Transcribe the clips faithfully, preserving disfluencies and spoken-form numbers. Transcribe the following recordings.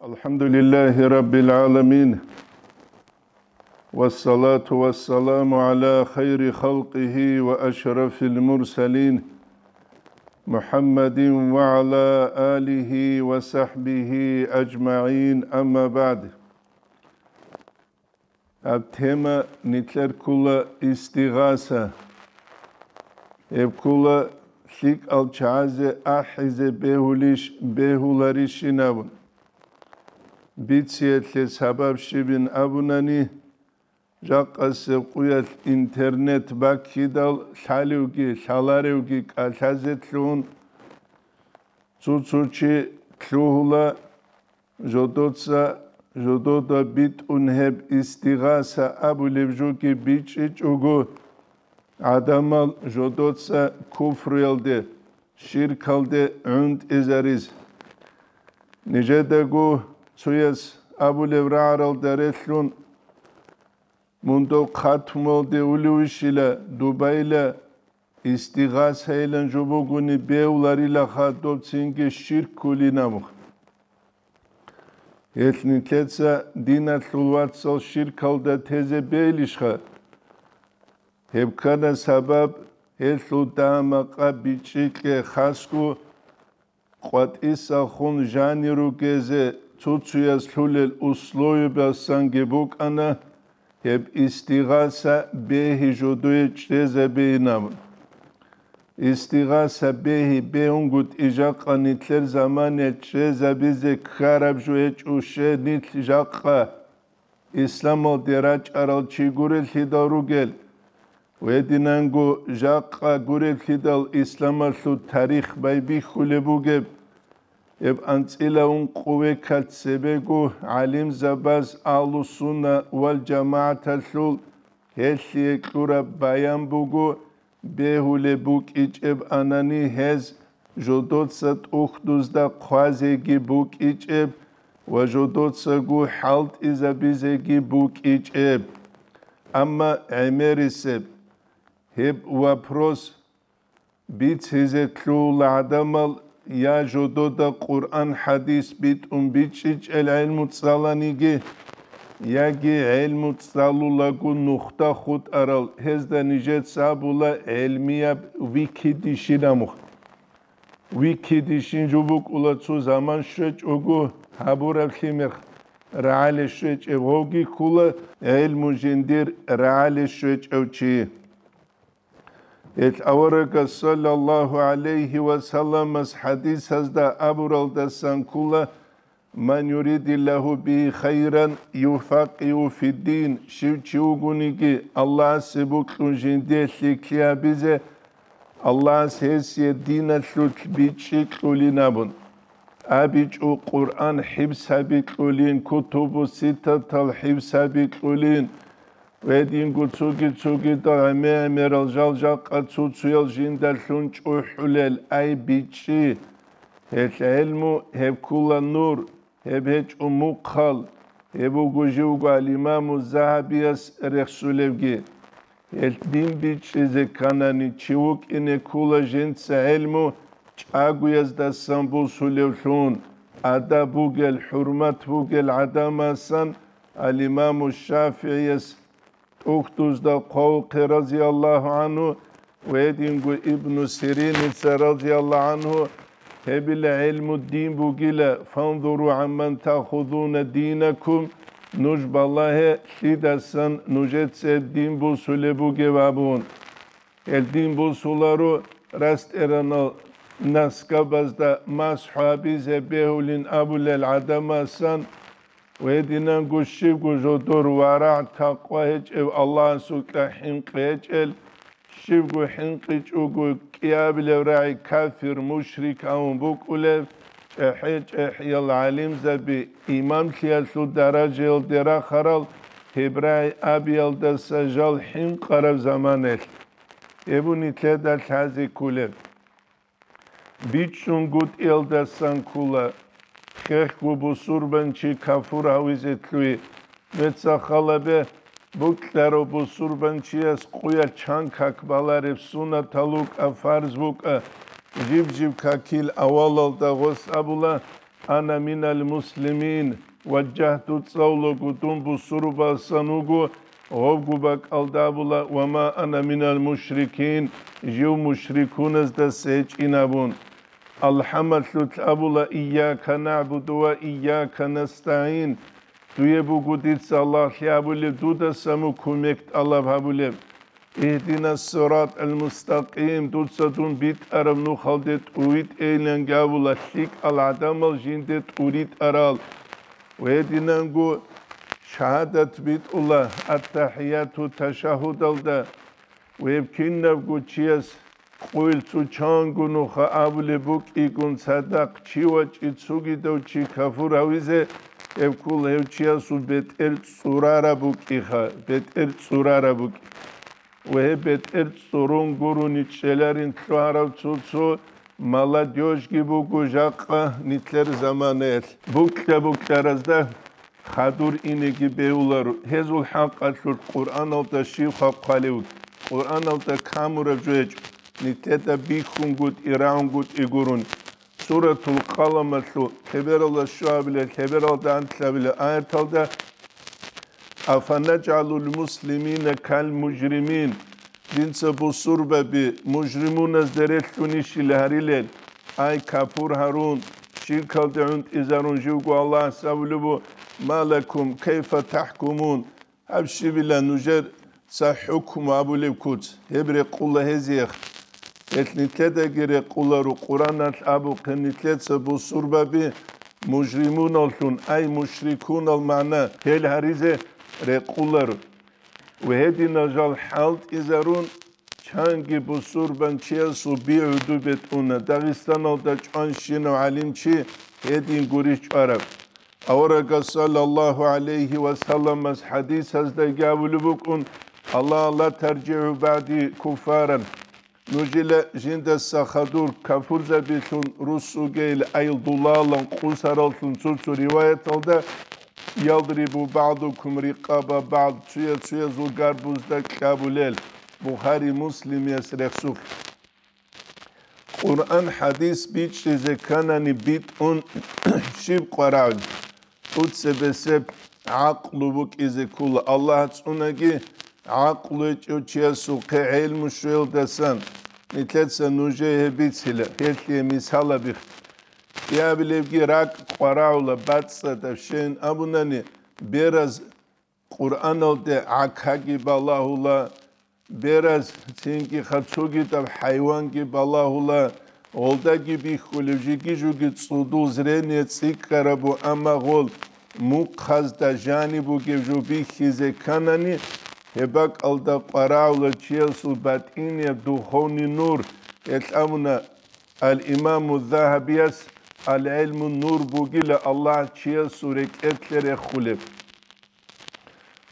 الحمد لله رب العالمين. والصلاة والسلام على خير خلقه وأشرف المرسلين محمد وعلى آله وصحبه أجمعين. أما بعد. Гьаб тема нилъер ккола истигъаса. Гьеб ккола лъикӀал чагӀазе ахӀизе бегьулищ, бегьуларищин абун. Бициялъе сабаб щибин абунани, жакъасеб къуялъ интернет баккидал лъалевги лъаларевги кӀалъазе лъугьун, цо-цо чи лъугьула, жодоца, жодода битӀун гьеб истигъаса абулеб жоги бичӀчӀичӀого, гӀадамал жодоца куфруялде, ширкалде гӀунтӀизариз. Нижедаго цояс абулеб рагӀаралда релълъун, мун дов хъатмуялде улевищила, дубайла, истигъасайилан жо бугони бегьуларилаха, доб цинги ширккулин абун. Гьелъ нилъеца диналъул вацал ширкалда тезе бегьилищха? Гьеб ккана сабаб, гьелъул дагьа-макъа бичӀчӀи кье, хасго къватӀисахун жанир ругезе цо-цояс лъулел условиябасанги букӀана гьеб истигъаса бегьи жодое чӀезабейин абун. Истигъаса бегьи бегьунгутӀи жакъа нилъер замане чӀезабизе ккараб жо гьечӀо, щай нилъ жакъа исламалде рачӀарал чи гуреллъидал ругел, гьединанго жакъа гуреллъидал исламалъул тарих байбихьулеб бугеб. Гьеб анцӀила ункъо векалъ цебего гӀалимзабаз Агьлу-сунна вал жамагӀаталъул гьелъие кьураб баян буго, бегьулеб букӀичӀеб анани гьез жодоца тӀухьдузда хъвазеги букӀичӀеб ва жодоцаго хӀалтӀизабизеги букӀичӀеб. Амма гӀемерисеб гьеб вопрос бицизе лъугьула гӀадамал я жодода Къуръан-хӀадис битӀун бичӀчӀичӀел гӀелму цӀаланиги, яги гӀелму цӀалулаго нухда хутӀарал, гьезда нижеца абула гӀелмияб Викидищин абун. Викидищин жо букӀула цо заман щвечӀого гьабураб лъимер рагӀале щвечӀеб, гьоги ккула гӀелму жиндир рагӀале щвечӀев чи. Гьелъ аварагас саллаллагьу гӀалайгьи ва салламас хӀадисазда абуралдасан ккула: «Ман юридиллагьу бигьи хайран юфаккигьу фиддин», щив чи вугониги, Аллагьасе бокьун жиндие лъикӀлъи гьабизе, Аллагьас гьесие диналъулъ бичӀчӀи кьулин абун. АбичӀо Къуръан хӀифз гьаби кьулин, кутубу ситтатал хӀифз гьаби кьулин, гьединго цоги-цогидал гӀемер-гӀемерал жал жакъа цо-цоял жиндалъун чӀухӀулел, ай бичӀчӀи. Гьелъ гӀелму гьеб ккула нур, гьеб гьечӀо мухъал, гьеб буго живго ал-Имаму Загьабияс рехсулевги. Гьелъ дин бичӀчӀизе кканани, чи вукӀине ккула жинца гӀелму чӀагояздасан бусулевлъун, адаб бугел, хӀурмат бугел гӀадамасан, ал-Имаму ШафигӀияс тӀухьдузда хъвавухъе, разияллагьу гӀангьу, ва гьединго Ибну Сириница, разияллагьу гӀангьу, гьебила гӀелму дин бугила: «Фанзуру гӀамман таахузуна динакум», нуж балагье, лъидасан нужеца гьеб дин бусулеб бугеб абун. Гьел дин бусуларо растӀаранал наскабазда масхӀу гьабизе бегьулин абулел гӀадамасан, гьединанго щибго жодор варагӀ-такъва гьечӀев, Аллагьасукьа хӀинкъи гьечӀел, щибго хӀинкъичӀого кӀиабилев рагӀи кафир, мушрик авун букӀулев, чӀехӀе-чӀехӀиял гӀалимзаби, имамлъиялъул даражаялде рахарал гьеб рагӀи абиялдаса жал хӀинкъараб заманаялъ. Гьеб нилъеда лъазе кколеб. БичӀчӀунгутӀиялдасан ккола, хехго бусурбанчи кафур гьавизе лъугьи. Мецахъалабе бокьарав бусурбанчияс къуялъ чан как балареб суннатал рукӀа, фарз букӀа, жиб-жиб какил авалалда гъос абула, «Ана минал муслимин», ваджагьту цӀалулаго дун бусурбасан вуго, гъобгу бакӀалда абула: «Ва ма ана минал мушрикин», жив мушрикуназдаса гьечӀин абун. АлхӀамалъулъ абула: «Ийяка нагӀбуду ва ийяка настагӀин», дуе буго дица Аллагьлъи абулеб, дудаса мун кумек тӀалаб гьабулеб. «Игьдина сиратал мустакъим», дуца дун битӀараб нухалде тӀуй тӀейилан гьабула, лъикӀал гӀадамал жинде тӀуритӀарал. Гьединанго шагьадат битӀула аттахӀияту ташагьудалда, гьеб кинабго чияс къуйл цу чанго нуха абулеб букӀигун цадахъ чи вачӀи цугидав чи кафур гьавизе, гьеб ккола гьев чиясул бетӀер цӀурараб букӀиха, бетӀер цӀурараб букӀи. Ва гьеб бетӀер цӀурун гурони чӀеларин лъугьарав цо-цо молодёжьги буго жакъа нилъер заманаялъ. Букьа-букьаразда хадур инеги бегьуларо. Гьезул хӀакъалъулъ Къуръаналда щибха хъвалев? Къуръаналда камураб жо гьечӀо. Нилъеда бихьунгутӀи, рагӀунгутӀи гурун. Суратул Къаламалъул лъебералда щуабилеб, лъебералда анлъабилеб аяталда: «Афанаджгьалул муслимина кал мужримин?» Жинца бусурбаби мужримуназда релълъунищила гьарилел? Ай, капур гьарун, ширкалде гӀунтӀизарун живго Аллагьас абулеб буго: «Ма лакум кайфа тахӀкумун?» Гьаб щибила нужер ца хӀукму абулеб куц, гьеб рекъула гьезиех. Гьелъ нилъедаги рекъуларо, Къуръаналъ абухъе нилъеца бусурбаби мужримуналлъун, ай мушрикунал магӀна, гьел гьаризе рекъуларо. Ва гьединал жал хӀалтӀизарун, чанги бусурбанчиясул би гӀуду бетӀуна, Дагъистаналда чӀванщинав гӀалимчи гьедин гурищ чӀвараб. Аварагас саллаллагьу гӀалайгьи ва салламас хӀадисаздаги абулеб букӀун: «Алла ла таржигӀу багӀди куффаран». Нужила жиндаса хадур кафурзабилъун рус угейил айилдулалан къусараллъун цо-цо риваяталда: «Ядрибу багӀдукум рикъаба багӀд», цуя-цуязул гарбузда кьабулел. Бухари, Муслимияс рехсулъ. Къуръан-хӀадис бичӀчӀизе кканани битӀун щиб къварагӀун? ТӀуцебесеб гӀакълу букӀизе ккола. Аллагь цӀунаги, гӀакълу гьечӀев чиясухъе гӀелму щвелдасан нилъеца нужее гьеб бицила, гьелъие мисал абихъ. Кьиабилебги ракӀ къварагӀула, бацӀцӀадаб щейин абунани, бераз Къуръаналде гӀакаги балагьула, бераз цинги хъацуги тӀаб хӀайванги балагьула, гъолдаги бихьулев жиги-жуги цӀудул зрение цӀикӀкӀарабу, амма гъол мухъазда жаниб бугев жо бихьизе кканани, гьеб бакӀалда къварагӀула чиясул батӀинияб духовный нур, гьелъ абуна ал-Имаму Загьабияс: «Ал-гӀилму нур бугила Аллагь чиясул рекӀелъе рехулеб».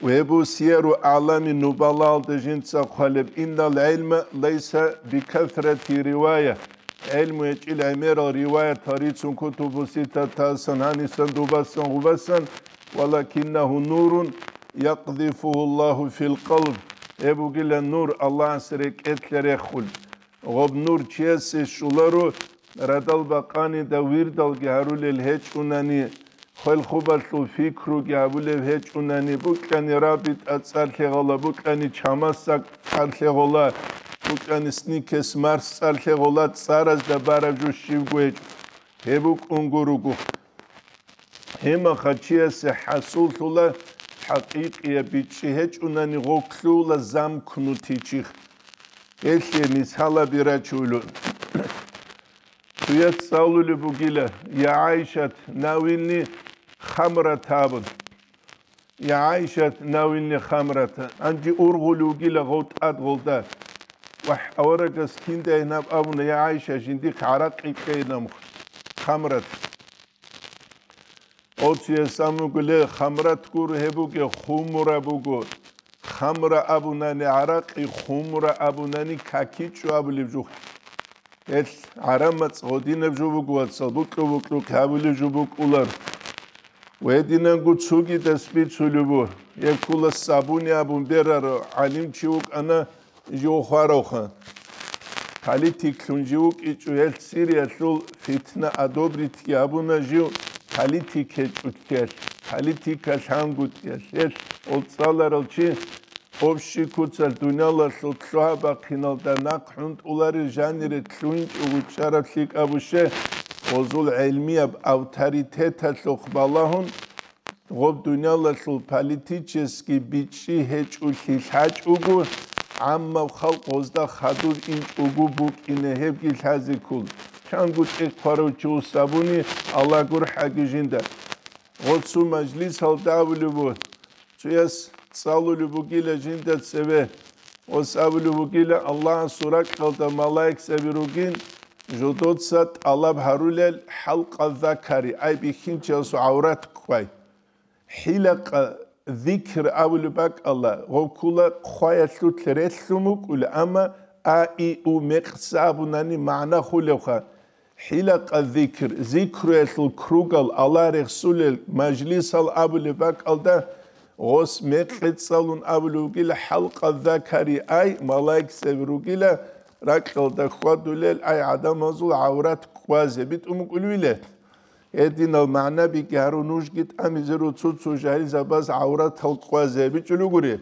Гьеб Сияру АгӀлами Нубалаалда жинца хъвалеб: «Иннал гӀилма лайса бикасрати ривая». ГӀилму гьечӀил гӀемерал риваятал рицун кутубу ситатасан, гьанисан, дубасан, гъубасан, «валакиннагьу нурун якъзифугьу Аллагьу фил къалб». Гьеб бугила нур Аллагьас рекӀелъе рехун. Гъоб нур чиясе щоларо, радал бакъанида вирдалги гьарулел гьечӀунани, хвел-хубалъул пикруги гьабулев гьечӀунани, букӀани рабитӀа цӀар лъегъала, букӀани чамасак цӀар лъегъала, букӀани сникес марс цӀар лъегъала, цӀаразда бараб жо щибго гьечӀо. Гьеб букӀун гуруго. Гьемаха чиясе хӀасуллъула хӀакъикъияб бичӀчӀи гьечӀунани гъоклъула замкнутый чих. Гьелъие мисалаби рачулун. Цуяц цӀалулеб бугила: «Я ГӀайшат, навилни хамрат», – абун. «Я ГӀайшат, навилни хамрат». Гьанже ургъулев вугила гъов тӀад гъолда. Вагь, аварагас киндай гьаб абуна: «Я ГӀайша, жиндихъ гӀаракъи кьейин», – абун, хамрат. Оцияс амугуле, хамрат гур гьеб бугеб, хумра буго. Хамра абунани гӀаракъи, хумра абунани какичӀо абулеб жо. Гьелъ гӀарамацӀ гъодинаб жо буго, вацал, букьу-букьухъе гьабулеб жо букӀулар. Гьединанго цогидас бицулеб буго, гьеб ккола сабуни абун берарав гӀалимчи вукӀана, жив хваравха. Политиклъун жив вукӀичӀо, гьелъ Сириялъул фитна одобритьги гьабуна жив, политик гьечӀолъиялъ, политика лъангутӀиялъ, гьелъ гъол цӀаларал чи общий куцалъ дуниялалъул лъугьа-бахъиналда нахъ хӀунтӀуларел жанире лъугьинчӀого чӀараб лъикӀаб буго, гъозул гӀелмияб авторитеталъухъ балагьун, гъоб дуниялалъул политический бичӀчӀи гьечӀолъи лъачӀого, гӀаммаб халкъ гъозда хадур инчӀого букӀине гьебги лъазе ккола. Чанго тӀехъ хъварав чи вуссабуни, Аллагь гурхӀаги жинда. Гъо цо мажлисалда абулеб буго, цояс цӀалулеб бугила жинда цеве, гъос абулеб бугила, Аллагьасул ракьалда малаикзаби ругин, жодоца тӀалаб гьарулел хӀалкъа закари, ай бихьинчиясул гӀаврат кквай. ХӀилакъа зикр абулеб бакӀалда, гъов ккола хъваялъулъ релълъун вукӀула, амма а, и, у мекъса абунани магӀна хулевха. ХӀилакъа зикр, зикруялъул кругал, Аллагь рехсулел мажлисал абулеб бакӀалда, гъос мекъи цӀалун абулев вугила, хӀалкъа закари, ай, малаикзаби ругила, ракьалда хьвадулел, ай, гӀадамазул гӀаврат кквазе битӀун букӀулевила. Гьединал магӀнабиги гьарун нужги тӀамизе руго цо-цо жагьилзабаз гӀавратал кквазе бичӀчӀулел ругури.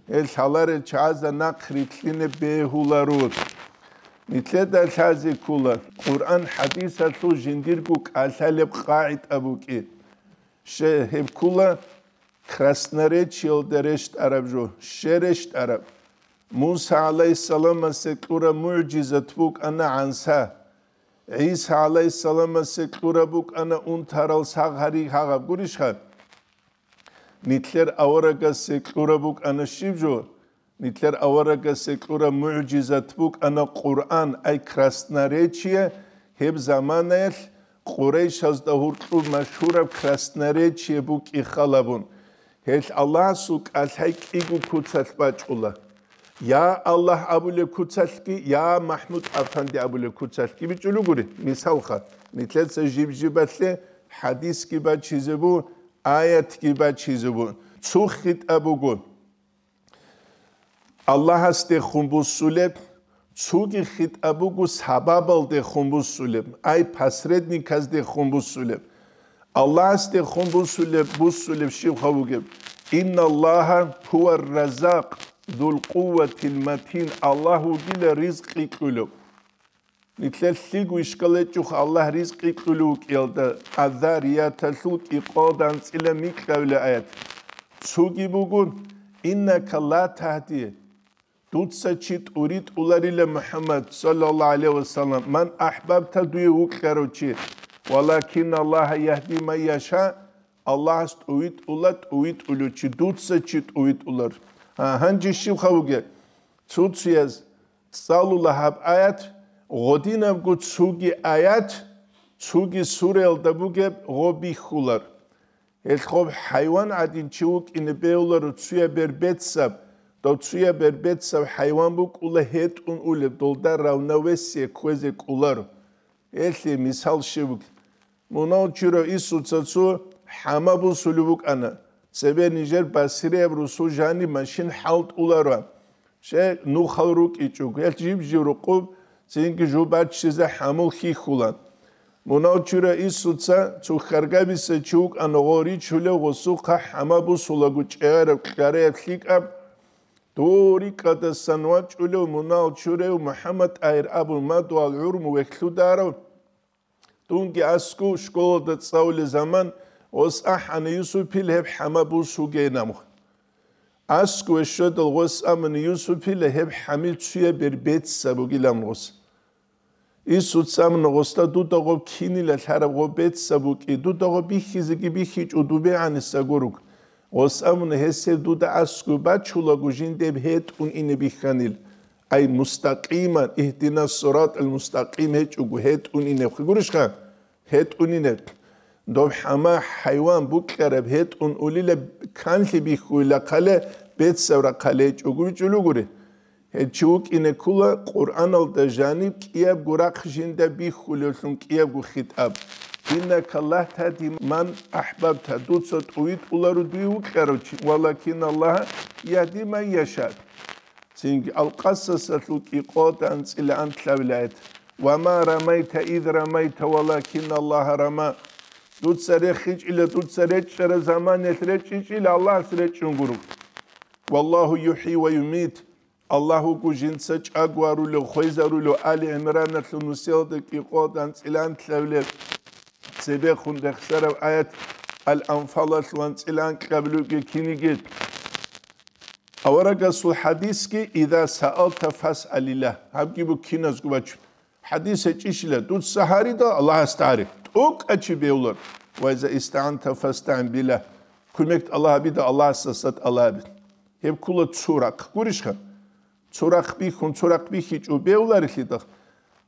Гьел лъаларел чагӀазда нахъ рилълъине бегьуларо. Нилъеда лъазе ккола, Къуръан-хӀадисалъул жиндирго кӀалъалеб къагӀида букӀи. Щай гьеб ккола красноречиялда рещтӀараб жо, щай рещтӀараб? Муса гӀалайгьиссаламасе кьураб мугӀжизат букӀана гӀанса. ГӀиса гӀалайгьиссаламасе кьураб букӀана унтарал сагъ гьари гьагъаб, гурищха? Нилъер аварагасе кьураб букӀана щиб жо? Нилъер аварагасе кьураб мугӀжизат букӀана Къуръан, ай красноречие, гьеб заманаялъ Къурайшазда гьоркьоб машгьураб красноречие букӀи халабун. Гьелъ Аллагьасул кӀалъай кӀиго куцалъ бачӀула. Я Аллагь абулеб куцалъги, я МахӀмуд-афанди абулеб куцалъги бичӀчӀулел ругури. Мисалха, нилъеца жиб-жибалъе хӀадисги бачизе бу, аятги бачизе бу. Цо хитӀаб буго. Аллагьасдехун буссулеб, цоги хитӀаб буго сабабалдехун буссулеб, ай посредниказдехун буссулеб. Аллагьасдехун буссулеб, буссулеб щибха бугеб? Инналлагьа гьувар-раззакъ зул-къувватил матин, Аллагь вугила ризкъи кьулев. Нилъер лъиго ишкал гьечӀоха Аллагь ризкъи кьулев вукӀиялда, Аззарияталъул кӀикъоялда анцӀила микьабила аят. Цоги буго, иннака ла тагьди, дуца чи тӀуритӀуларила, МухӀаммад, саллаллагьу гӀалайгьи ва саллам, ман ахӀбабта, дуе вукьарав чи, валакин Аллагьа ягьди ман яша, Аллагьас тӀувитӀула тӀувитӀулев чи, дуца чи тӀувитӀулар. А, гьанже щибха бугеб? Цо-цояз цӀалула гьаб аят, гъодинабго цоги аят, цоги сураялда бугеб гъо бихьулар. Гьелъ гъоб хӀайван гӀадин чи вукӀине бегьуларо, цуяб бер бецаб, дов цуяб бер бецаб хӀайван букӀула гьетӀун улеб, долда равновесие кквезе кӀоларо. Гьелъие мисал щиб бугеб? Мунагьал чурав Исуца цо хӀама бусулев вукӀана. Цебе нижер басрияб русул жаниб машин хӀалтӀуларо. Щай нухал рукӀичӀого, гьелъ жиб-жиб рукъуб, цинги жо баччизе хӀамул хьихьула. Мунагьал чурав Исуца цо хьаргабиса чи вукӀана гъо ричулев, гъосухъа хӀама бусулаго чӀегӀераб кьараяб лъикӀаб, дов рикӀкӀадасан вачӀулев мунагьал чурав МухӀаммад-ТӀагьир абун мадугьал гӀурму вехьлъударав, Дунги аскӀов школалда цӀалулел заман гъос ахӀана Юсупил гьеб хӀама бусугейин абун. АскӀове щведал гъос абуна Юсупила гьеб хӀамил цуяб бер бецаб бугилан гъос. Исуца абуна гъосда, дуда гъоб кинила лъараб гъо бецаб букӀи, дуда гъо бихьизеги бихьичӀо, дубегӀаниса гуруг. Гъос абуна, гьес гьеб дуда аскӀов бачулаго жиндияб гьетӀун ине бихьанил. Ай мустакъиман, игьдинас сиратал мустакъим гьечӀого, гьетӀун инеб. Гурищха? ГьетӀун инеб. Доб хӀама хӀайван букьараб гьетӀун улила, канлъи бихьуйла хъале, бецав рахъале гьечӀого бичӀчӀулугури. Гьеб чи вукӀине ккула Къуръаналда жаниб кӀиябго рахъ жинда бихьулевлъун кӀиябго хитӀаб. Иннака ла тагьди ман ахӀбабта, дуца тӀувитӀуларо дуе вукьарав чи, валакин Аллагьа ягьди ман яша. Цинги Ал-Къасасалъул кӀикъоялда анцӀила анлъабилеб аят: «Ва ма рамайта из рамайта, валакин Аллагьа рама». Дуца рехичӀила, дуца речӀчӀараб заманаялъ речӀчӀичӀила, Аллагьас речӀчӀун гуро. Валлагьу юхӀи ва юмит. Аллагь вуго жинца чӀаго гьарулев, хвезарулев, Али ГӀимраналъул нусиялда кӀикъоялда анцӀила анлъабилеб цебехун рехсараб аят, Ал-Анфалалъул анцӀила анкьабилебги киниги. Аварагасул хадисги: «Иза саалта фасъалиллагь». Гьабги буго киназго бачун. Хадис гьечӀищила, дуца гьарида Аллагьасда гьаре. ТӀокӀав чи бевлар. «Ва иза истаанта фастаин биллагь». Кумек Аллагь гьабида, Аллагьасдаса тӀалаб гьабе. Гьеб ккола цо рахъ. Гурищха? Цо рахъ бихьун, цо рахъ бихьичӀо бевларелъидал.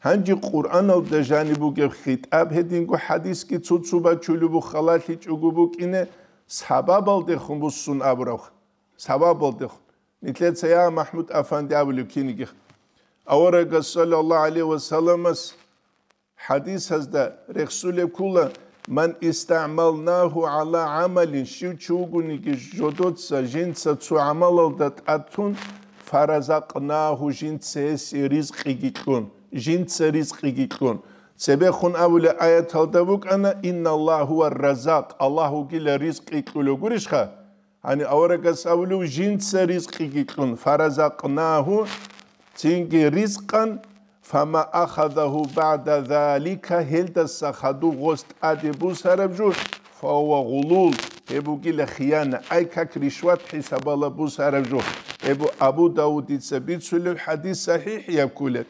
Гьанже Къуръаналда жаниб бугеб хитӀаб гьединго хадисги цо-цо бачулеб халалъичӀого букӀине, сабабалдехун буссун абураб. Сабабалдехун. Нилъеца я МахӀмуд-афанди абулеб кинигиха. Аварагас, саллаллагьу гӀалайгьи ва салламас, хадисазда рехсулеб ккола: «Ман истагӀмалнагьу гӀала гӀамалин», щив чи вугониги жодоца жинца цо гӀамалалда тӀад тун, «фаразакънагьу», жинца гьесие ризкъиги кьун, жинца ризкъиги кьун. Цебехун абулеб аяталда букӀана: «Инналлагьа гьувар-раззакъ», Аллагь вугила ризкъи кьулев, гурищха? Гьаниб аварагас абулев, жинца ризкъиги кьун, «фаразакънагьу», цинги ризкъан, «фама ахазагьу багӀда залика», гьелдаса хадуб гъос тӀаде бусараб жо, «фагьува гъулул», гьеб бугила хияна, ай как ришват хӀисабалда бусараб жо. Гьеб Абу Давудица бицулеб хадис сахӀихӀ яккулеб.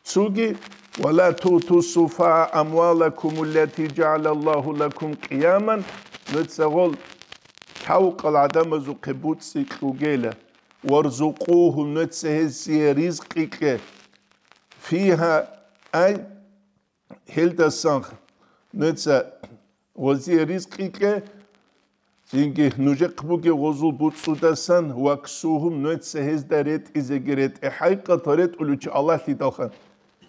Цоги: «Ва ла туъту суфагьаа амвалакум аллати жагӀалаллагьу лакум къияман», нуца гъол лъавкъал гӀадамазухъе буцӀцӀи кьугела, «варзукъугьум», нуца гьезие ризкъи кье, «фигьа», ай, гьелдасан нуца гъозие ризкъи кье, цинги нужехъ бугеб гъозул буцӀцӀудасан, «ваксугьум», нуца гьезда ретӀизеги ретӀе, хӀакъикъаталда ретӀулев чи Аллагьлъидалха.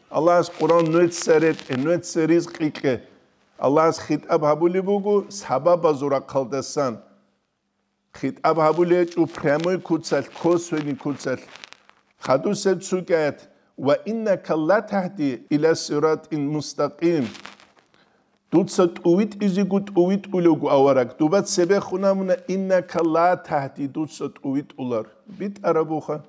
Аллагьас Къуръан нуца ретӀе, нуца ризкъи кье. Аллагьас хитӀаб гьабулеб буго сабабазул рахъалдасан. ХитӀаб гьабулеб гьечӀо прямой куцалъ, косвенный куцалъ. Хадусеб цоги аят: «Ва иннака латагьди иля сиратин мустакъим». Дуца тӀувитӀизего тӀувитӀулевго авараг. Дуба цебехун абуна: «Иннака латагьди», дуца тӀувитӀулар. БитӀарабуха.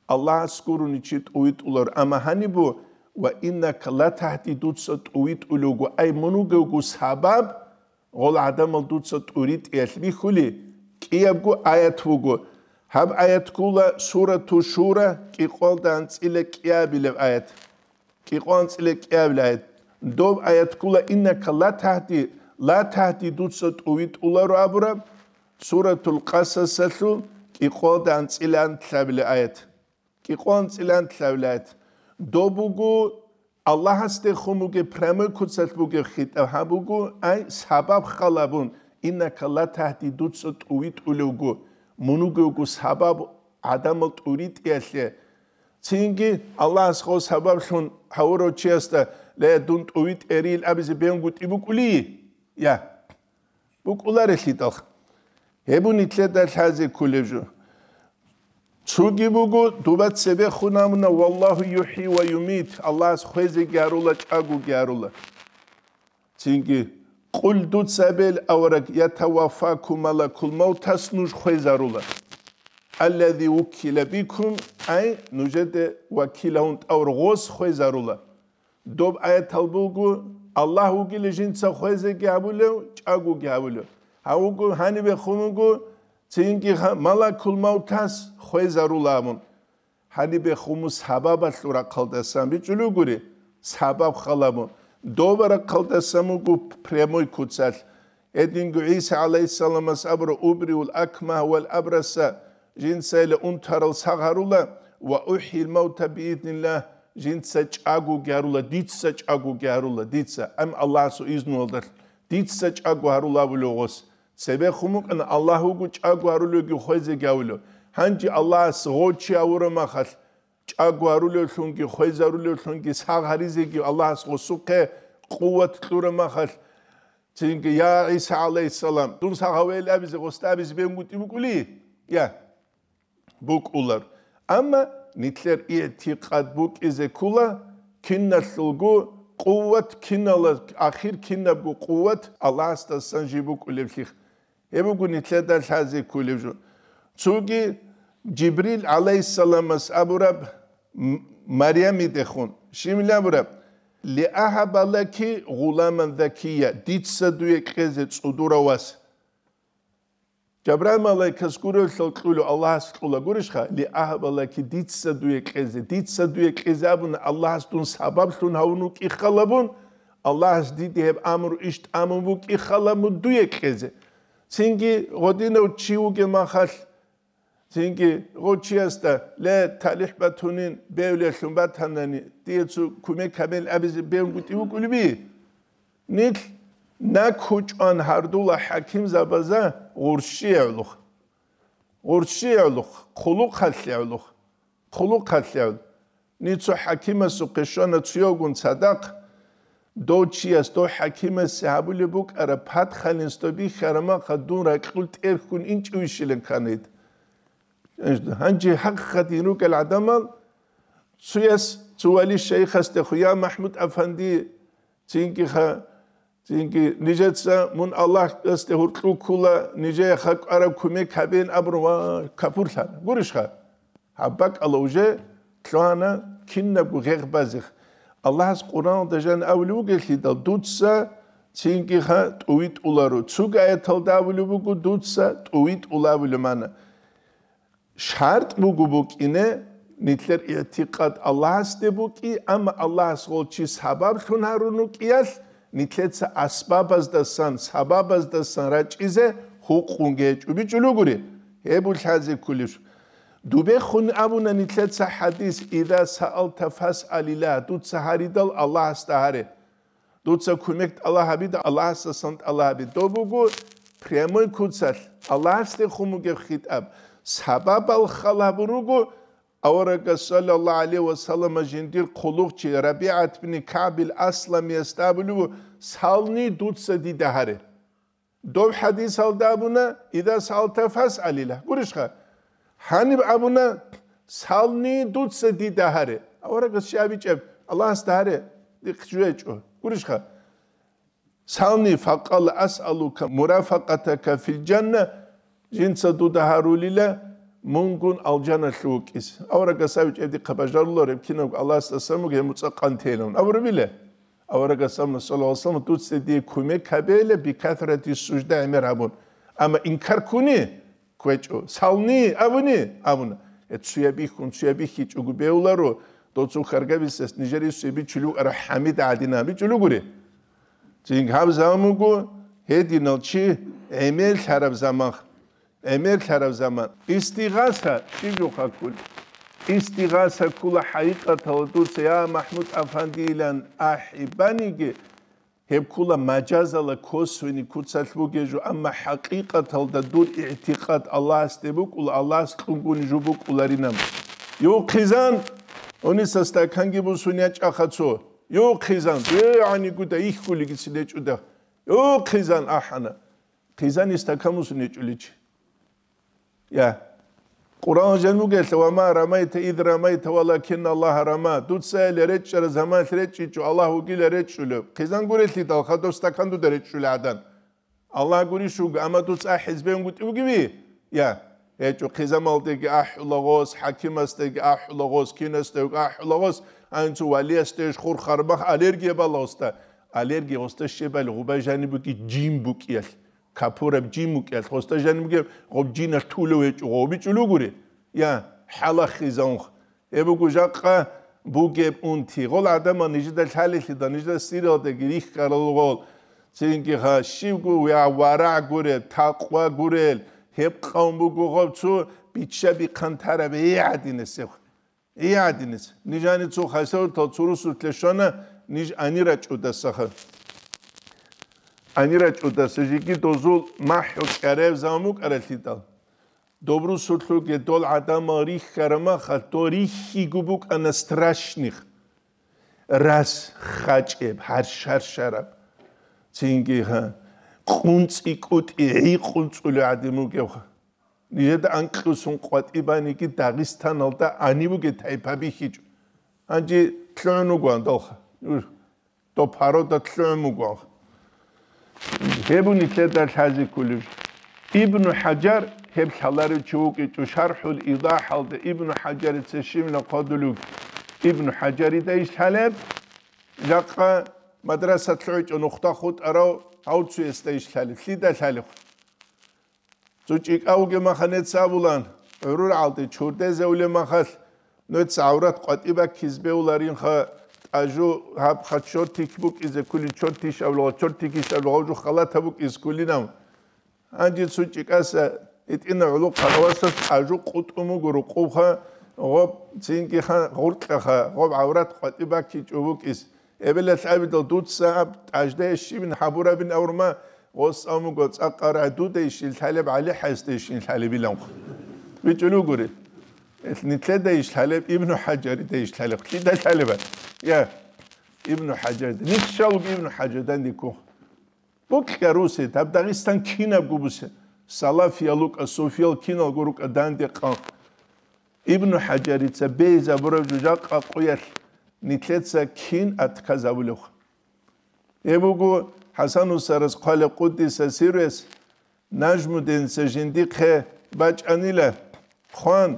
Аллагьас гурони чи тӀувитӀулар. Амма гьаниб бу: «Ва иннака латагьди», дуца тӀувитӀулевго, ай мун вугевго сабаб, гъол гӀадамал дуца тӀуритӀиялъ бихьули, кӀиябго аят вуго. Гьаб аят ккола Сурату Шура, кӀикъоялда анцӀила кӀиабилеб аят. КӀикъоялда анцӀила кӀиабилеб аят. Доб аят ккола: «Иннака латагьди», «латагьди», дуца тӀувитӀуларо абураб, Суратул Къасасалъул кӀикъоялда анцӀила анлъабилеб аят. КӀикъоялда анцӀила анлъабилеб аят. Доб буго Аллагьасдехун бугеб, прямой куцалъ бугеб хитӀаб, гьаб буго, ай, сабаб халабун, «Иннака латагьди», дуца тӀувитӀулевго, мун вугевго сабаб гӀадамал тӀуритӀиялъе. Цинги Аллагьас гъо сабаблъун гьавурав чиясда: «Ле, дун тӀувитӀерил», абизе бегьунгутӀи букӀулищ? Я. БукӀуларелъидал. Гьеб нилъеда лъазе кколеб жо. Цоги буго, дуба цебехун абуна: «Валлагьу юхӀи ва юмит», Аллагьас хвезеги гьарула, чӀагоги гьарула. Цинги: «Къул», дуца абе, авараг, «ятаваффакум малакул мавтас», нуж хвезарула. «Аллази вуккила бикум», ай, нужеде вакил гьавун тӀавурав гъос хвезарула. Доб аятал буго, Аллагь вугила жинца хвезеги гьабулев, чӀагоги гьабулев. Гьав вуго, гьанибехун вуго, цинги ха-, малакул мавтас хвезарула абун. Гьанибехун мун сабабалъул рахъалдасан бичӀчӀулев гури, сабаб халабун. Доба рахъалдасан вуго прямой куцалъ. Гьединго ГӀиса гӀалайгьиссаламас абура: «Убриул акмагьа вал абраса», жинцайила унтарал сагъ гьарула, «ва ухьил мавта биизниллагь», жинца чӀагоги гьарула, дица чӀагоги гьарула, дица, ам Аллагьасул изнулалдалъ, дица чӀаго гьарула абулев гъос. Цебехун букӀана, Аллагь вуго чӀаго гьарулевги хвезеги гьавулев. Гьанже Аллагьас гъо чи гьавураб махалъ, чӀаго гьарулевлъунги, хвезарулевлъунги, сагъ гьаризеги Аллагьас гъосухъе къуват кьураб махалъ, цинги: «Я ГӀиса гӀалайгьиссалам, дун сагъ гьавейил», абизе, гъосда абизе бегьунгутӀи букӀулищ? Я, букӀулар. Амма нилъер игӀтикъад букӀизе ккола, киналъулго Къуват кинала, ахир кинабго къуват Аллагьасдасан жиб букӀулеблъи. Гьеб буго нилъеда лъазе кколеб жо. Цоги Жибрил гӀалайгьиссаламас абураб, М-, Марямидехун, щиб абураб: «Лиагьаба лаки гъуламан закия», дица дуе кьезе цӀудурав вас. Жабраил малайкас гурелъул кьула, Аллагьас кьула гурищха, «Лиагьаба лаки», дица дуе кьезе, дица дуе кьезе абуна, Аллагьас дун сабаблъун гьавун вукӀи халабун, Аллагьас диде гьеб амру иш тӀамун вукӀи халабун дуе кьезе. Цинги гъодинав чи вугеб махалъ, цинги гъо чиясда, ле, талихӀ батунин, бевлъун батанани, дие цо кумек гьабел абизе бевгутӀи вукӀулеби? Нилъ накучӀан гьардула хӀакимзабаза гъурщиявлух. Гъурщиявлух, хъулухъалъявлух, хъулухъалъявл. Нилъ цо хӀакимасухъе щвана цуявгун цадахъ, дов чияс дов хӀакимасе гьабулеб букӀараб патхалин сто бихьарамаха дун ракьул тӀерхьун инчӀевищилан ккана гьед. Гьанже хӀакъикъатин ругел гӀадамал цуяс, цо вали шайихасдехун: «Я, МахӀмуд-афанди, цинги ха, цинги нижеца мун Аллагьасде гьуркьу ккула, нижее хакӀараб кумек гьабеян», абун ва капурлъана. Гурищха? Гьаб бакӀала уже лъугьана кинабго гъегъ базех. Аллагьас Къуръаналда жан абулев вугелъидал, дуца цинги ха тӀувитӀуларо. Цуг аяталда абулеб буго, дуца тӀувитӀула абулеб мана. ШартӀ буго букӀине, нилъер игӀтикъад Аллагьасде букӀи, амма Аллагьас гъол чи сабаблъун гьарун вукӀиялъ, нилъеца асбабаздасан, сабабаздасан рачӀизе гьукъунги гьечӀо, бичӀчӀулугури, гьеб улъазе кколеб. Дубехун абуна нилъеца хӀадис: «Иза саалта фасъалилла», дуца гьаридал Аллагьасда гьаре. Дуца кумек тӀалаб гьабида, Аллагьасдасан тӀалаб гьабе. Доб буго прямой куцалъ, Аллагьасдехун бугеб хитӀаб. Сабабал хал гьабун руго, аварагас, саллаллагьу гӀалайгьи ва саллама, жиндир хъулухъчи РабигӀат бин КагӀбил Асламиясда абулеб буго: «Сални дуца дида гьаре». Доб хӀадисалда абуна: «Иза саалта фасъалилла». Гурищха? Гьаниб абуна: «Сални дуца дида гьаре». Аварагас щай абичӀеб? Аллагьасда гьаре, дихъ жугьечӀо. Гурищха? «Сални, факъала асъалука мурафакъатака фил жанна», жинца дуда гьарулила мунгун алжаналъув вукӀис. Аварагас абичӀеб дихъа бажарулареб кинабго Аллагьасдасан буго гьеб муцӀа къантейилан. Аварабила? Аварагас абуна, саллаллагьу гӀалайгьи ва саллам, дуца дие кумек гьабейила бикасрати сужда гӀемер гьабун. Амма инкар ккуни? КквечӀо. Сални абуни? Абуна. Э, цуя бихьун, цуя бихьичӀого бевларо, доцун харгабисес нижер исуе бичулев ара ХӀамид гӀадина бичулугури. Цин гьаб заман буго, гьединал чи гӀемерлъараб заман, гӀемерлъараб заман. Истигъаса щиб жо хъаккул? Истигъаса ккула хӀакъикъаталда дуца, я МахӀмуд-афандилан ахӀи баниги, гьеб ккула мажазала косвенный куцалъ бугеб жо, амма хӀакъикъаталда дур игӀтикъад Аллагьасде букӀула, Аллагьас кьунгун жо букӀуларинаб. Юхъизан, гьуниса стаканги бусун ячӀаха цо. Юхъизан, дегӀани гуда ихьулигицин гьечӀуда. Юхъизан ахӀана. Хъизани стакан бусун гьечӀуличи. Я. Къуръан жан бугелъа: «Ва ма рамайта ид рамайта, валакин Аллагьа рама». Дуца гьеле речӀчӀараб заманалъ речӀчӀичӀо, Аллагь вугила речӀчӀулев. Хъизан гурелъидал хадуб стакан дуда речӀчӀулей гӀадан. Аллагь гурищ вуго, амма дуца ахӀиз бегьунгутӀи вугеви? Я. ГьечӀо, хъизамалдеги ахӀула гъос, хӀакимасдеги ахӀула гъос, кинасдеги ахӀула гъос, анцӀу валиясдеш хур хармах аллергия бала гъоста. Аллергия гъоста щебали гъуба жаниб буги жин букӀиялъ. Капураб жин букӀиялъ, гъоста жаниб бугеб гъоб жинас тулев гьечӀо, гъобичӀулугури? Я, хӀалахизанх. Гьеб буго жакъа бугеб унти. Гъол гӀадамал нижеда лъалелъидал, нижеда сиралдаги рихьарал гъол. Цинги ха щивго я варагь гурел, такъва гурел, гьеб къавм буго гъоб цо биччаби хъантараб гӀадинасеб. ИгӀадинис. Нижани цо хасавуртал цо русулъе щвана, ниж анира чӀудасаха. Анира чӀудаса жиги дозул махӀу кӀараб заман букӀаралъидал. Доб русулъуги дол гӀадамал рихьарамаха, дол рихьиго букӀана страшных. Рас хачӀеб, гьаршаршараб. Цинги, гьа, къунцӀи кӀутӀи гӀи къунцӀули гӀадин бугебха. Нижеда анкьусун къватӀибаниги Дагъистаналда гьаниб бугеб тайпа бихьичӀо. Гьанже лъугӀун вугоан далха. Доб гьарода лъугӀун буго. Гьеб нилъеда лъазе кколеб. Ибну ХӀажар, гьеб лъаларев чи вукӀинчӀо, ШархӀул Идахалда Ибну ХӀажарица щибилан хъвадулев. Ибну ХӀажарида иш лъалеб, жакъа мадраса лъугӀичӀо нухда хутӀарав гьав цуясда иш лъалеб. Лъида лъалеб? Цо чӀикӀав вугеб махалъ нецц абулан, гӀурул гӀалде чурдезе улеб махалъ, нуца гӀаврат къватӀиб баккиз бегьуларинха, тӀажу гьабха чортик букӀизе кколин, чортиш абула, чортикиш абула, гъов жо халатаб букӀиз кколинав. Гьанже цо чӀикӀаса гьитӀина гӀолохъанав васас тӀажу къутӀун буго рукъубха, гъоб цинги ха-, гъуркьаха, гъоб гӀаврат къватӀиб баккичӀо букӀиз. Эбелалъ абидал дуца аб тӀаждая щибин гьабурабин авурма, гъос амуго цӀакъа рагӀдуда ищил лъалеб, ГӀали хӀайсда ищил лъалебилан. БичӀулугури. Ил нилъеда иш лъалеб, Ибну ХӀажарида иш лъалеб. Лъида лъалеба? Я, Ибну ХӀажарида. Нихъ щалуг Ибну ХӀажардан диккун. Букьа русе, даб Дагъистан кинабго бусе. Салафиял рукӀа, суфиял киналго рукӀа данде къан. Ибну ХӀажарица бейзабураб жужахъа къуялъ нилъеца кин атказабулев? Гьеб буго ХӀасан устарас хъвалеб къуддиса сирруяс, Нажмуддинца жиндихъе бачӀанила хъван,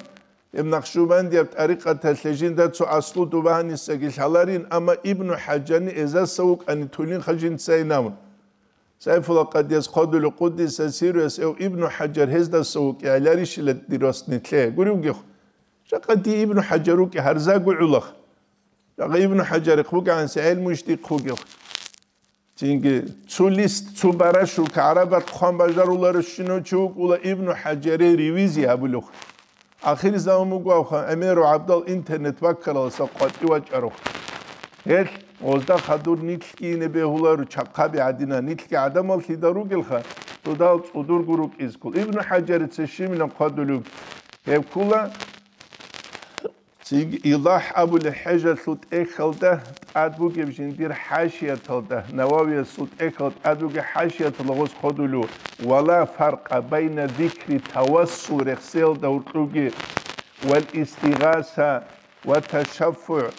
гьеб Накъшубандияб тӀарикъаталъе жинда цо аслу дубагьанисаги лъаларин, амма Ибну ХӀажарни эзаса вукӀани тулинха жинцайин абун. Сайфула къадияс хъвадулев къуддиса сирруяс эв Ибну ХӀажар гьездаса вукӀи гӀеларищила дир вас нилъее. Гуревгихъ, жакъа дие Ибну ХӀажар вукӀи гьарзаго гӀулахъ. Жакъа Ибну ХӀажарихъ вукӀанси гӀелму иш дихъ вугев. Цинги цо лист, цо барашулка гӀарабат хъван бажаруларищинав чи вукӀула Ибну ХӀажаре ревизия гьабулев. Ахирзаман буго авха, гӀемеру гӀабдал интернет баккаралдаса къватӀив вачӀарав. Гьелъ гъозда хадур нилъги ине бегьуларо чахъаби гӀадина, нилъги гӀадамал лъида ругелха, дудал цӀудурго рукӀизккул. Ибну ХӀажарица щибилан хъвадулев гьеб ккула, цинги Идахъ абулеб хӀежалъул тӀехьалда тӀад бугеб жиндир хӀашияталда, Нававиясул тӀехьалда тӀад бугеб хӀашияталда гъос хъвадулев, вала фаркъа байна зикри тавассул рехсеялда гьоркьовги, вал истигъаса ва ташаффугӀ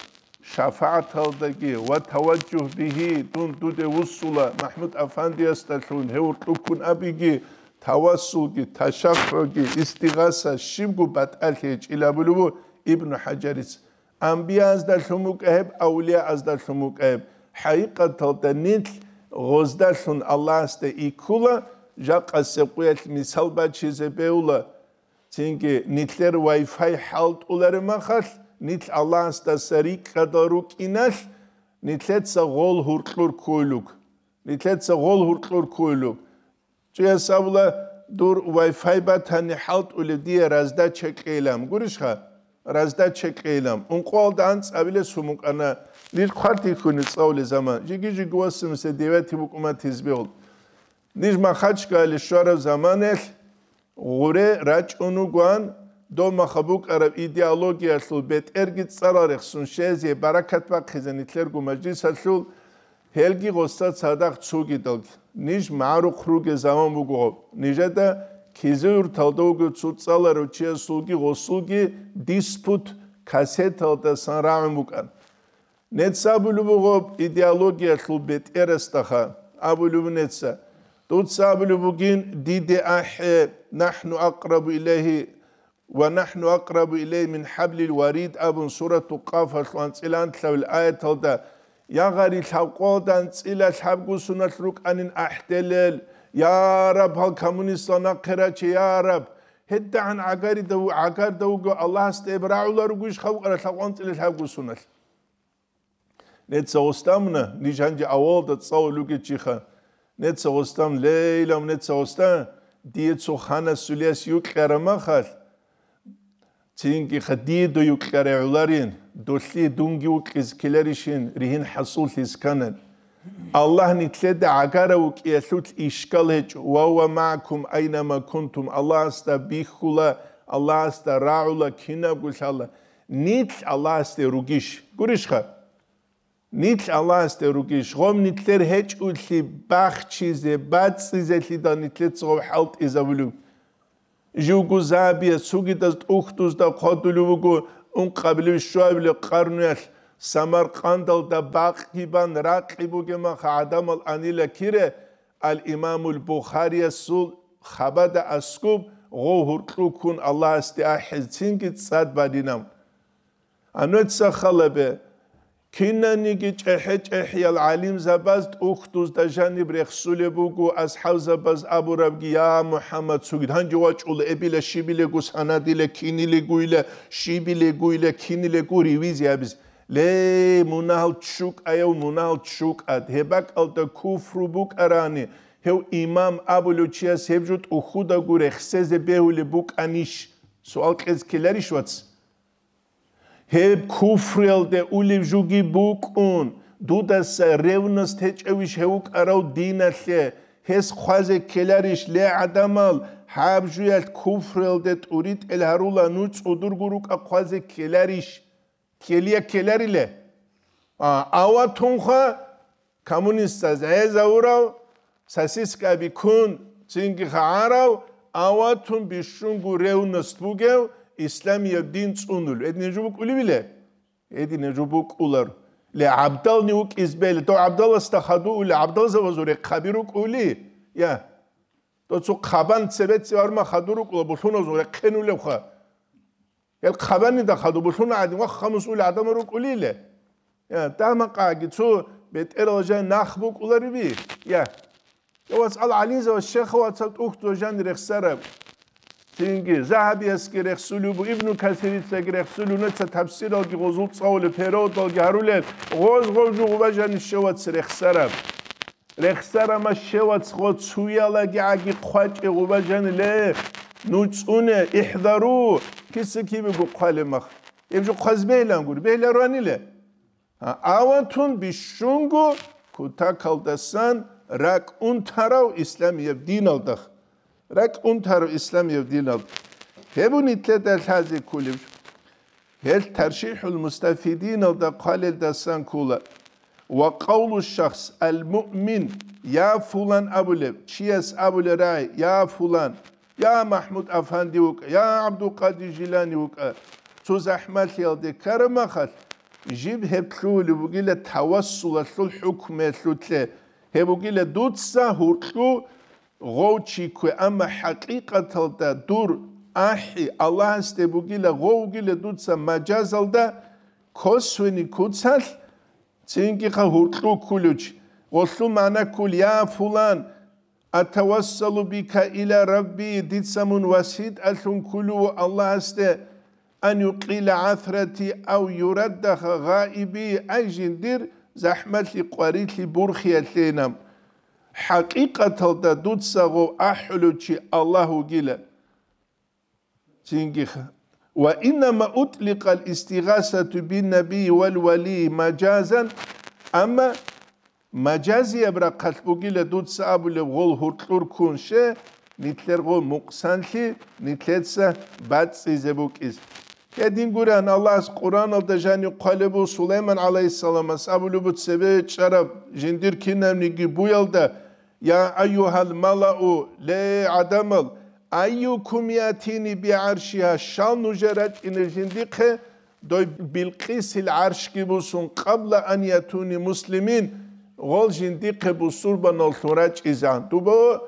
шафагӀаталдаги ва таважжугь бигьи, дун дуде вуссула МахӀмуд-афандиясдалъун, гьев гьоркьуккун абиги, тавассулги, ташаффугӀги, истигъаса щибго батӀалъи гьечӀила абулеб буго Ибну ХӀажарица. Амбияаздалъун букӀа гьеб, авлияаздалъун букӀа гьеб. ХӀакъикъаталда нилъ гъоздалъун Аллагьасда иккула, жакъасеб къуялъ мисал бачизе бегьула. Цинги нилъер Wi-Fi хӀалтӀулареб махалъ, нилъ Аллагьасдаса рикӀкӀадал рукӀиналъ, нилъеца гъол гьуркьур ккуйлуг. Нилъеца гъол гьуркьур ккуйлуг. Цояс абула, дур Wi-Fi батани хӀалтӀулеб дие раздача кьейилан. Гурищха? Раздача кьейилан. Ункъоялда анцӀабилес гьумукӀана. Ниж хъватихьуни цӀалулел заман. Жиги-жиги восемьдесят девятый букӀума тизбегьул. Ниж Махачкале щвараб заманаялъ гъуре рачӀун вугоан, дов маха букӀараб идеологиялъул бетӀерги цӀарал рехсун щвезе, баракат бахъизе нилъерго мажлисалъул, гьелги гъосда цадахъ цугидалги. Ниж магӀарухъ ругел заман буго гъоб. Нижеда Кизилюрталда вугев цо цӀаларав чиясулги гъосулги диспут кассеталдасан рагӀун букӀан. Нецц абулеб буго идеологиялъул бетӀерасдаха, абулеб нецц. Дуца абулеб бугин, диде ахӀе, нахӀну акърабу илайгьи ва нахӀну акърабу илайгьи мин хӀаблил варид абун, сурату Къафалъул анцӀила анлъабил аяталда, я гъарил лъабкъоялда анцӀила лъабго суналъ рукӀанин ахӀделел, я Раб, гьал коммунистал нахъе раче, я Раб, гьедагӀан гӀагаридав-, гӀагарда вуго Аллагьасда гьеб рагӀула ругищха букӀара лъабкъо анцӀила лъабго суналъ. Неца гъостамуна, ниж гьанже авалда цӀалулев вугев чиха. Неца гъостам, лейлам, неца гъостам, дие цо ханасулияс юкьараб махалъ, цинги ха дие до юкьарай гӀоларин, долъие дунги вукьиз ккеларищин ригьин хӀасуллъиз кканан. Аллагь нилъеда гӀагарав вукӀиялъулъ ишкал гьечӀо, ва гьува магӀакум айнама кунтум, Аллагьасда бихьула, Аллагьасда рагӀула кинабго лъала. Нилъ Аллагьасде ругищ? Гурищха? Нилъ Аллагьасде ругищ? Гъом нилъер гьечӀулъи бахчизе, бацӀцӀизелъидал нилъеца гъов хӀалтӀизабулев. Живго забия цугидаз тӀухьдузда хъвадулев вуго ункъабилев щуабилев къарнуялъ Самаркъандалда бакъги бан ракъи бугеб маха гӀадамал анила кире, ал-Имамул Бухариясул хабада аскуб гъов гьуркьу ккун Аллагьасде ахӀизцинги цӀад баринав. Ануца халабе, кинаниги чӀехӀе-чӀехӀиял гӀалимзабаз тӀухьдузда жаниб рехсулеб буго, асхӀабзабаз абурабги: «Я МухӀаммад, цуги гьанже вачӀула, эбила, щибилего санадила, кинилегойила, щибилегойила, кинилего ревизия гьабизе». Ле, мунагьал чукӀаяв, мунагьал чукӀад, гьеб бакӀалда куфру букӀарани, гьев имам абулев чияс гьеб жо тӀухьудаго рехсезе бегьулеб букӀанищ? Суал кьезе ккеларищ, вац? Гьеб куфруялде улев жуги букӀун, дудаса ревность гьечӀевищ гьев вукӀарав диналъе? Гьес хъвазе ккеларищ, ле, гӀадамал, гьаб жуялъ куфруялде тӀуритӀел гьарула, нуж цӀудурго рукӀа хъвазе ккеларищ? Ккелия ккелариле? А, аватунха, коммунистаз гӀезавурав, сосискаби ккун, цинги хагӀарав, аватун бищунго ревность бугев, исламияб дин цӀунулев. Гьедин жо букӀулевиле? Гьедин жо букӀулар. Ле, гӀабдални вукӀиз бегьле, дов гӀабдаласда хадув ули, гӀабдалзабазул рехъаби рукӀули? Я. Дов цо хъабан цебецци варма хадур рукӀула, булъуназул рехъен улевха. Гьел хъабанида хадуб булъуна гӀадин, вахха мусул гӀадамал рукӀулиле. Я, дагьмакъаги цо бетӀерал жан нах букӀулариби? Я. Я, вацал гӀалимзабаз, щайха, вацал тӀухьдузда жан рехсараб. Цинги Загьабиясги рехсулев бу, Ибну Касирицаги рехсулев, нуца тафсиралги гъозул цӀалулеб, переводалги гьарулел, гъоз-гъоз жугъба жан щевац рехсараб. Рехсарама щевац гъо цуялаги гӀаги хъвачӀе гъуба жаниле, нуж цӀуне, ихӀдару, киса кибего хъвалеб мах. Гьеб жо хъваз бегьилан гури, бегьиларо аниле. А, аватун бищунго кутакалдасан ракӀ унтарав исламияб диналдах. РакӀ унтарав исламияб диналда. Гьеб нилъеда лъазе кколеб жо. Гьел ТаршихӀул Мустафидиналда хъвалелдасан ккола: «Ва къавлу шахс ал-муъмин, я фулан», абулеб, чияс абулеб рагӀи: «Я фулан, я МахӀмуд Афанди вукӀа, я ГӀабдулкъадир Жилани вукӀа». Цо захӀмалъиялде ккараб махалъ, жиб гьеб лъугьулеб бугила тавассулалъул хӀукмуялъулъе, гьеб бугила дуца гьуркьу гъов чи ккве, амма хӀакъикъаталда дур ахӀи Аллагьасде бугила, гъов вугила дуца мажазалда косвени куцалъ, цинги-хъа гьуркьу ккулев чи. Гъолъул магӀна ккол: «Я фулан, атавассалу бика иля Рабби, дица мун васитӀалъун ккулев ву Аллагьасде, ан юкъила гӀасрати ав юраддаха гъаиби», ай жиндир захӀмалъи къварилъи бурхиялъейилан. ХӀакъикъаталда дуца гъов ахӀулев чи Аллагь вугила. Цинги-хъа. «Ва иннама утӀликъал истигъасату бин-набийи вал-валийи мажазан», амма мажазияб рахъалъ бугила дуца абулеб гъол гьуркьур ккун, щай, нилъер гъо мукъсанлъи нилъеца бацӀцӀизе букӀиз. Гьедин гуран, Аллагьас Къуръаналда жанив хъвалеб бу Сулайман гӀалайгьиссаламас абулеб бу цебе чӀараб жиндир кинабниги буялда: «Я айюгьал малау, ле гӀадамал, айюкум ятини бигӀаршигьа, щал нужер рачӀине жиндихъе дой Билкъисил гӀаршги бусун, къабла ан ятуни муслимин, гъол жиндихъе бусурбаналлъун рачӀизан». Дуба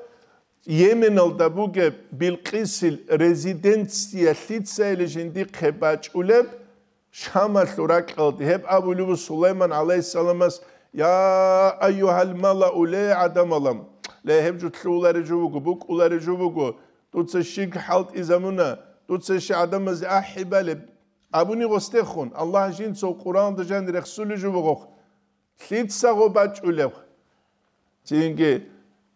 Йеменалда бугеб Билкъисил резиденция лъицайилан жиндихъе бачӀулеб, Шамалъул ракьалде. Гьеб абулеб бу Сулайман гӀалайгьиссаламас: «Я айюгьал малау, ле гӀадамалам, ле, гьеб жо лъугьулареб жо буго, букӀулареб жо буго, дуца щиб хӀалтӀизабуна, дуца щиб гӀадамазе ахӀи балеб?» Абуни гъосдехун, Аллагь жинцав Къуръаналда жанир рехсулеб жо бугохъ. Лъица гъо бачӀулеб? Цинги,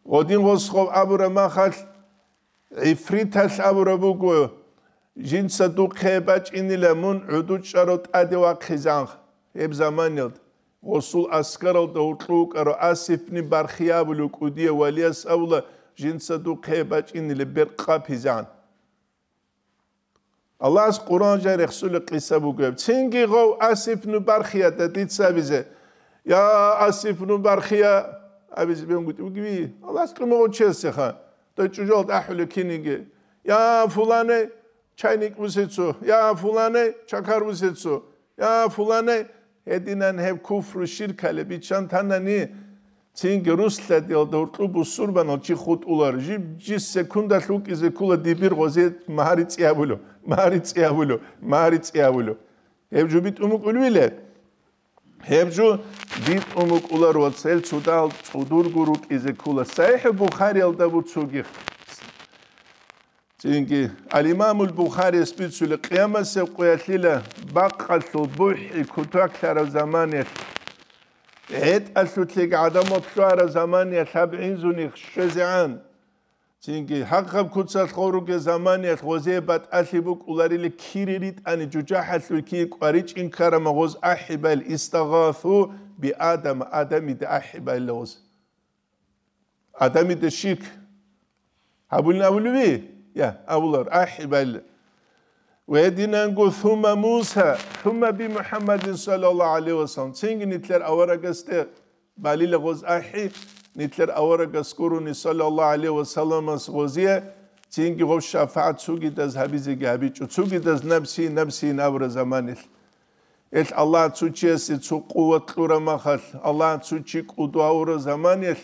гъодин гъос гъов абураб махалъ, гӀифриталъ абураб буго: «Жинца духъе бачӀинила мун гӀуду чӀарав тӀаде вахъизан». Гьеб заманиялда гъосул аскаралда гьуркьу вукӀарав Асифни Бархи абулев кӀудияв валияс абула: «Жинца духъе бачӀинила беркъаб гьизан». Аллагьас Къуръан жай рехсулеб къиса бугеб. Цинги гъов Асифну Бархияда дица абизе: «Я Асифну Бархия», абизе бегьунгутӀи бугеви, Аллагьас кьумагъав чиясеха, дой чӀужуялда ахӀулеб киниги: «Я фулане, чайник бусецо, я фулане, чакар бусецо, я фулане, Гьединан гьеб куфру ширкалеб биччан танани, цинги руслъадиялда гьуркьу бусурбанал чи хутӀулар, жиб-жи секундалъ вукӀизе ккула дибир гъозе магьари цӀиябулев, магьари цӀиябулев, магьари цӀиябулев. Гьеб жо битӀун букӀулвиле? Гьеб жо битӀун букӀулар ва цел цудал цӀудурго рукӀизе ккула. СахӀихӀ Бухариялда буцуги. Цинги, Ал-Имамул Бухарияс бицули, къиямасеб къуялъила бакъалъул бухӀи кутаклъараб заманиялъ, гӀетӀалъулъеги гӀадамал лъугьараб заманиялъ гьаб гӀинзуни щвезегӀан. Цинги, хӀакъаб куцалъ гъоруге заманиялъ гъозие батӀалъи букӀуларили кири ритӀани жужахӀалъуй кие кӀваричӀин ккарама гъоз ахӀибал, истагъасу би Адама, Адамида ахӀибал гъоз. Адамида ширк гьабулин абулеби? Я, абулар, ахӀи балла. Ва гьединанго, сумма Муса, сумма би МухӀаммадин саллаллагьу гӀалайгьи ва саллам. Цинги нилъер аварагасде балила гъоз ахӀи, нилъер аварагас гурони саллаллагьу гӀалайгьи ва салламас гъозие, цинги гъов шафагӀат цугидаз гьабизеги гьабичӀо, цугидаз напси, напси абура заманилъ. Ил Аллагь цо чиясе цо къуват кьура махалъ, Аллагь цо чи кӀуду гьавура заманиялъ,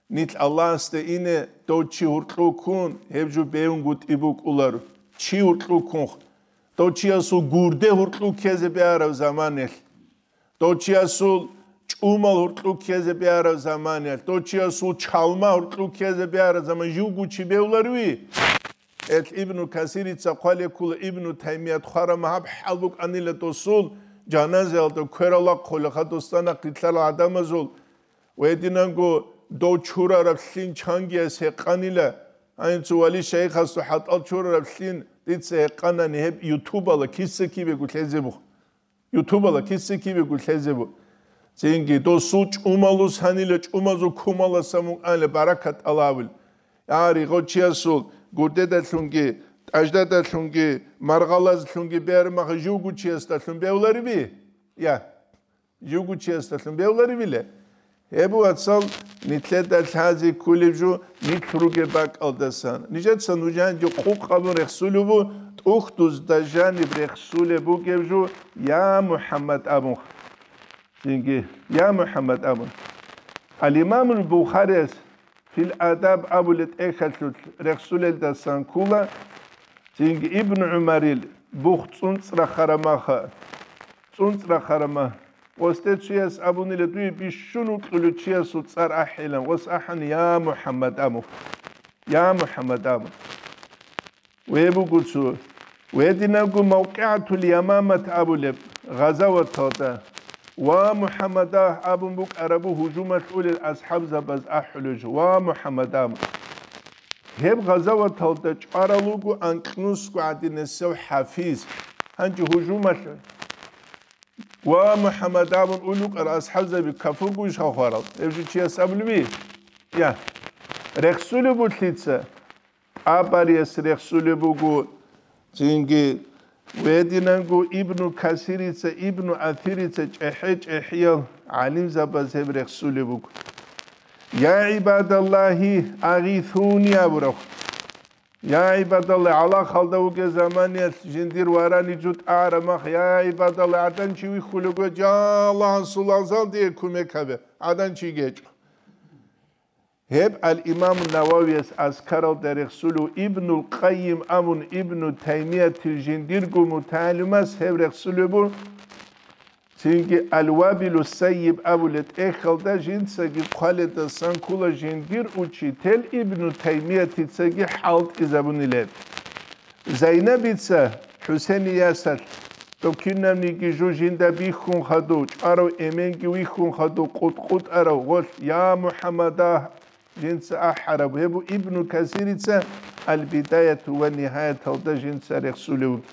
нилъ Аллагьасде ине дов чи гьуркьу ккун, гьеб жо бегьунгутӀи букӀулар, чи гьуркьу ккунх, дов чиясул гурде гьуркьу ккезе бегьараб заманиялъ, дов чиясул чӀумал гьуркьу ккезе бегьараб заманиялъ, дов чиясул чалма гьуркьу ккезе бегьараб заман, живго чи бевларви? Ил Ибну Касирица хъвалеб ккола, Ибну Таймият хъвараб магьаб хӀал букӀанила досул, жаназаялда кверал рахъулеха досда нахъ рилълъарал гӀадамазул, ва гьединанго дов чурараб лъин чангияс гьекъанила, гьанив цо вали шайихасул хӀатӀал чурараб лъин дица гьекъанани гьеб ютубала киса-кибего лъезе бух. Ютубала киса-кибего лъезе бу. Цинги досул чӀумалус гьанила, чӀумазул кумаласа мукӀанила баракат тӀалабил. Я, ригъав чиясул гурдедалъунги, тӀаждадалъунги, маргъалазлъунги бермаха живго чиясдалъун бевлариби? Я, живго чиясдалъун бевларибила? Гьеб, вацал, нилъеда лъазе кколеб жо нилъ ругеб бакӀалдасан. Нижеца нужанги къукъ абун рехсулеб бу, тӀухьдузда жаниб рехсулеб бугеб жо, я МухӀаммад абун. Цинги, я МухӀаммад абун. Ал-Имамул Бухарияс Фил Адаб абулеб тӀехьалъулъ рехсулелдасан ккола, цинги Ибн ГӀумарил бух цӀунцӀрахъараб маха, цӀунцӀрахъараб ма-, Гъосде чияс абунила дуе бищун вукьулев чиясул цӀар ахӀилан, гъос ахӀани, я МухӀаммад абун. Я МухӀаммад абун. Ве буго цо. Гьединабго МавкъигӀатул Ямамат абулеб гъазаваталда, ва МухӀаммад абун букӀарабу гьужумалъ улел асхӀабзабаз ахӀулев жо, ва МухӀаммад абун. Гьеб гъазаваталда чӀварал руго анкьнусго гӀадинасев хӀафиз. Гьанже гьужумалъ Ва МухӀаммад абун улукъар асхӀабзаби кафургуйищ хварал? Гьев жо чияс абулеби? Я. Рехсулеб буго лъица? ТӀабарияс рехсулеб буго, цинги гьединанго Ибну Касирица, Ибну Атирица, чӀехӀе-чӀехӀиял гӀалимзабаз гьеб рехсулеб буго. Я гӀибадаллагьи, агъисуни абураб. Я гӀибадалла, гӀалахалда вугеб заманиялъ жиндир варани жутӀараб мах, я гӀибадалла, гӀадан чи вихьулего, я Аллагь, гьасул азал дие кумек гьабе, гӀадан чи гьечӀо. Гьеб ал-Имам Нававияс Азкаралда рехсулев, Ибнул Къаййим абун Ибну Таймиятил жиндирго мутагӀалимас гьеб рехсулеб буго. Цинги Ал-Вабилу Сайиб абулеб тӀехьалда жинцаги хъваледасан ккола жиндир учитель Ибну Таймиятицаги хӀалтӀизабунилеб. Зайнабица ХӀусейниясалъ, дов кинабниги жо жинда бихьун хадув, чӀварав эменги вихьун хадув, къутӀ-къутӀарав гъолъ, я МухӀаммада, жинца ахӀараб, гьеб Ибну Касирица Ал-Бидаяту ва Нигьаяталда жинца рехсулев вугеб.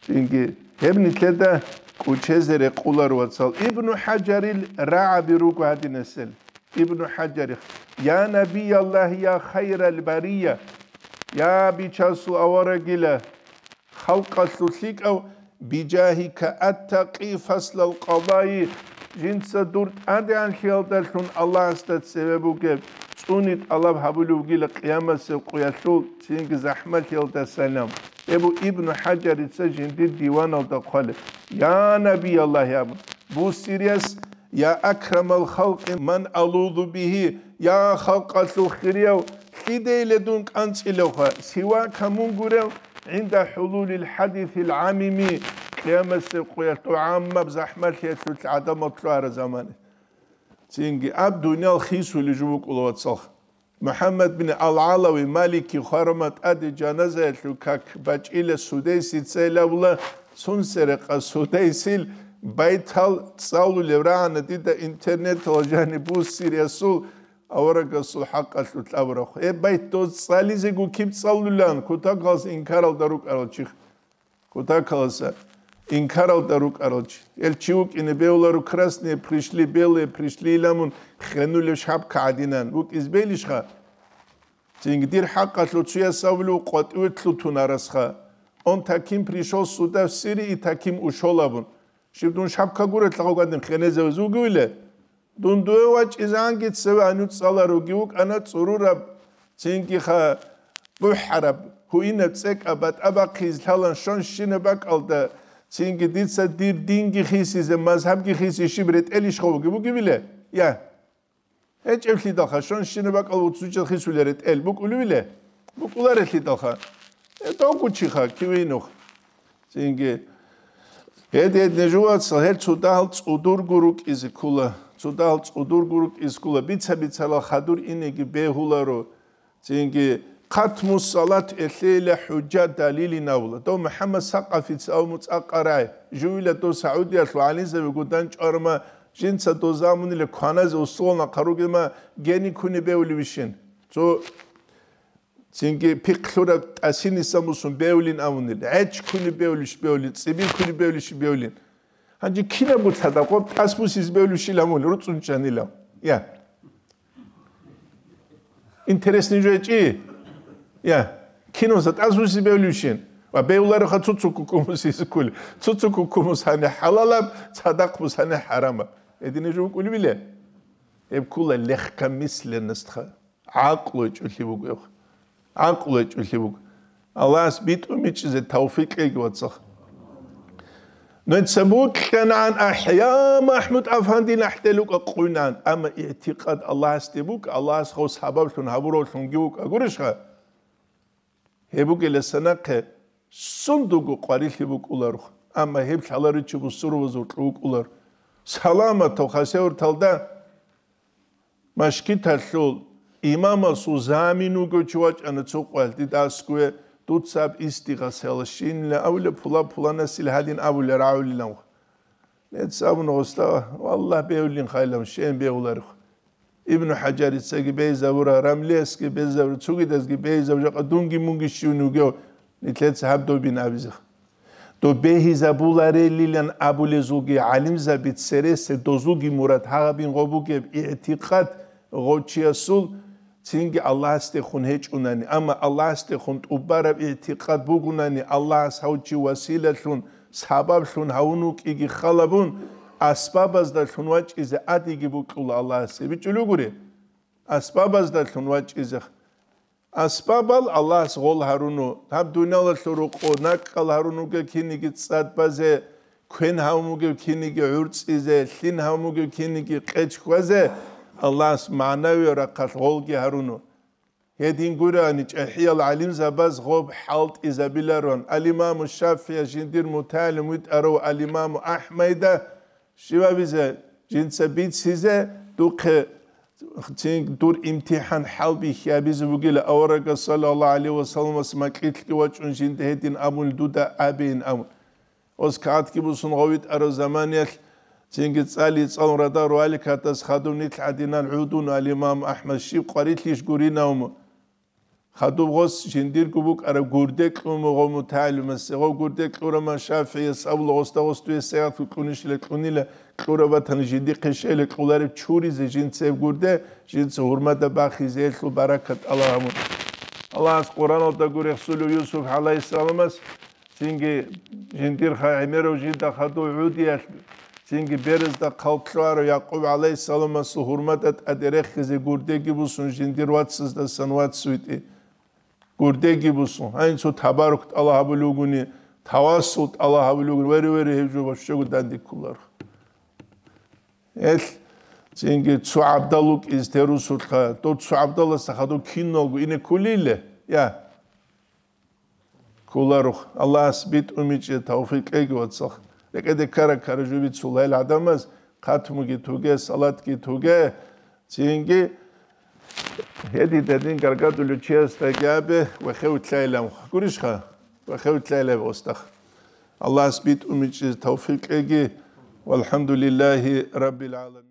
Цинги гьеб нилъеда кӀучезе рекъолар, вацал. Ибну ХӀаджарил рагӀаби руго гьадинасел. Ибну ХӀаджарих: «Я Набияллагь, я хайрал бария, я Бичасул аварагила, халкъалъул лъикӀав, бижагьика аттакъи фаслал къадаи, жинца дур тӀадегӀанлъиялдалъун Аллагьасда цеве бугеб цӀуни тӀалаб гьабулев вугила къиямасеб къуялъул цинги захӀмалъиялдасалам». Эбу Ибну ХӀаджарица жиндир диваналда хъвалеб: «Я Набияллагь», – абун, буссирияс: «Я акрамал халкъи ман алузу бигьи», я халкъалъул хирияв, лъидейила дун кӀанцӀилевха, сивака мун гурев, гӀинда хӀулулил хӀадисил гӀамими, къиямасеб къоялъ тӀогӀамаб захӀмалъиялъулъ гӀадамал лъугьараб замана. Цинги аб дуниял хисулеб жо букӀула, вацалха. МухӀаммад бин Ал-ГӀалави Малики хварама тӀаде жаназаялъул как бачӀила Судайсица, ил абула, цун серекъа Судайсил байтал цӀалулев рагӀана дида интернеталда жаниб буссириясул, аварагасул хӀакъалъулъ абураб. Гьеб байт доз цӀализего киб цӀалулаан, кутакалас инкаралда рукӀарал чиха. Кутакаласа инкаралда рукӀарал чи. Гьел чи вукӀине бевларо, красные пришли, белые пришли иламун хенулев шапка гӀадинан. ВукӀиз белищха? Цинги дир хӀакъалъулъ цуяс абулев къватӀиве лъутун арасха. Он таким пришел сюда в Сирии и таким ушел абун. Щиб дун шапка гурелъа гьав гьадин хенезавез вугевиле? Дун дуе вачӀизанги цеве гьанив цӀаларуги вукӀана цӀурураб, цинги ха бухӀараб, гьуинаб цӀекӀаб батӀа бахъизе лъалан щонщинаб бакӀалда, цинги дица дир динги хисизе, мазгьабги хисизе щиб ретӀелищха вугеб бугебиле? Я. ГьечӀеблъидалха щонщинаб бакӀал вуцучел хисулел ретӀел букӀулевиле? БукӀуларелъидалха. Э, довгучиха, кивинух. Цинги, гьед-гьедин жувацал гьел цо дагьал цӀудурго рукӀизе ккола, цо дагьал цӀудурго рукӀизе ккола, бица-бицарал хадур инеги бегьуларо. Цинги, хъатму салат элъейила хӀужа далилин абула. Дов МухӀаммад Сакъафица абу муцӀа къарай, жувила дов Саудиялъул гӀалимзаби гудан чӀварма, жинца дов замунила кваназе условно хъаругема гени куни бевли вищин. Цо Цинги пихълъураб тӀасиниса мусун бевлин абунил, гӀеч куни бевлищ бевлин, цӀибил куни бевлищ бевлин. Гьанже кинаб буцадаб къо тӀас бусиз бевлищил гьамул руцӀунчанила? Я. Интересный жо гьечӀи? Я. Киноса тӀас бусиз бевлищин? Ва бевлареха цуцу кукумус изкули. Цуцу кукумус гьани хӀалалаб, цадахъ бус гьани хӀарамаб. Гьедине жо букӀулебиле? Гьеб ккула легкомысленностьха. ГӀакълу гьечӀолъи буго. ГӀакълу гьечӀолъи буго. Аллагьас битӀун бичӀчӀизе тавфикъ кьеги, вацал. Нуца букьанан ахӀя МахӀмуд-афанди нахӀделукъа къуйнан, амма игӀтикъад Аллагьасде букӀа, Аллагьас гъов сабаблъун гьабуравлъунги вукӀа, гурищха? Гьеб бугеласа нахъе сундуго къварилъи букӀуларухъ, амма гьеб лъаларичи бусурбабазул кьу вукӀулар. Саламатав хасевурталда Машгиталъул имамасул замин вугев чи вачӀана цо къоялъ, дида аскӀове, дуца аб истигъасала щинила абулеб, пула-пуланасил гьадин абулеб рагӀулилан. Нец абуна гъоста, валлагь, бевлин хайлан, щен бегьуларехъ. Ибну ХӀаджарицаги бейзабура, Рамлиясги бейзабура, цогидазги бейзабура, жакъа дунги-мунги щивни вугев, нилъеца гьаб добин абизех. Доб бегьизабуларелилан абулезулги гӀалимзаби цересел дозулги мурад гьабин гъо бугеб игӀтикъад гъов чиясул цинги Аллагьасдехун гьечӀунани, амма Аллагьасдехун тӀубараб игӀтикъад бугунани, Аллагьас гьав чи василалъун, сабаблъун гьавун вукӀиги халабун, асбабаздалъун вачӀизе гӀадиги букьула Аллагьасе. БичӀчӀулев гури? Асбабаздалъун вачӀизе. Асбабал Аллагьас гъол гьаруну, гьаб дуниялалъул рукъо накӀкӀал гьарун вугев киниги цӀад базе, квен гьавун вугев киниги гӀурцӀизе, лъин гьавун вугев киниги къеч хьвазе, Аллагьас магӀнавияв рахъалъ гъолги гьаруну. Гьедин гурани, чӀахӀиял гӀалимзабаз гъоб хӀалтӀизабиларон, ал-Имаму ШафигӀия жиндир мутагӀалим витӀарав ал-Имаму АхӀмайда, Щивабизе, жинца бицизе, духъе цин дур имтихӀан хӀалбихьи абизе бугила, аварагас, саллаллагьу гӀалайгьи ва салламас, макьилъги вачӀун жинда гьедин абун дуда абейин абун. Оскагьатги бусун гъовитӀарав заманиялъ, цинги цӀали цӀалун радар валикатас хадуб нилъ гӀадинан гӀудун ал-Имам АхӀмад щиб къварилъищ гуринавму. Хадуб гъос жиндирго букӀараб гурде кьуму гъо мутагӀалимасе, гъо гурде кьураман ШафигӀияс абула, гъосда гъос дуе сегъат кьунищила кьунила, кьураб батани жиндихъе щейила кьулареб чуризе жинцеб гурде, жинца гьурмада бахизе гьелъул баракат тӀалаб гьабун. Аллагьас Къуръаналда гурехсулев Юсуп гӀалайгьиссаламас, цинги жиндирха гӀемерав жинда хадув гӀудиялъ, цинги беразда хъалкьарав Якъуб гӀалайгьиссаламасул гьурмада тӀаде рехизе гурдеги бусун жиндир вацаздасан вацвитӀи. гурдеги бусун, гьанин цо табарук тӀала гьабулев вугони, тавассул тӀала гьабулев вугони, вере-вере гьев жо бащего данде кколаро. Гьел цинги цо гӀабдал вукӀизе терусулха, дов цо гӀабдаласда хадув киналго ине кколиле? Я. Кколаро. Аллагьас битӀумичӀеб тавфикъ кьеги, вацал. РекӀеде ккара-ккара жо бицула гьел гӀадамаз, хатмуги тоге, салатги тоге, цинги гьедин-гьедин гаргадулев чиясдаги абе, вехевлъайилан гурищха? Вехевлъайилан гьосда. Аллагьас битӀумичӀеб тавфикъ кьеги. Валхамдулиллагьи раббил гӀаламин.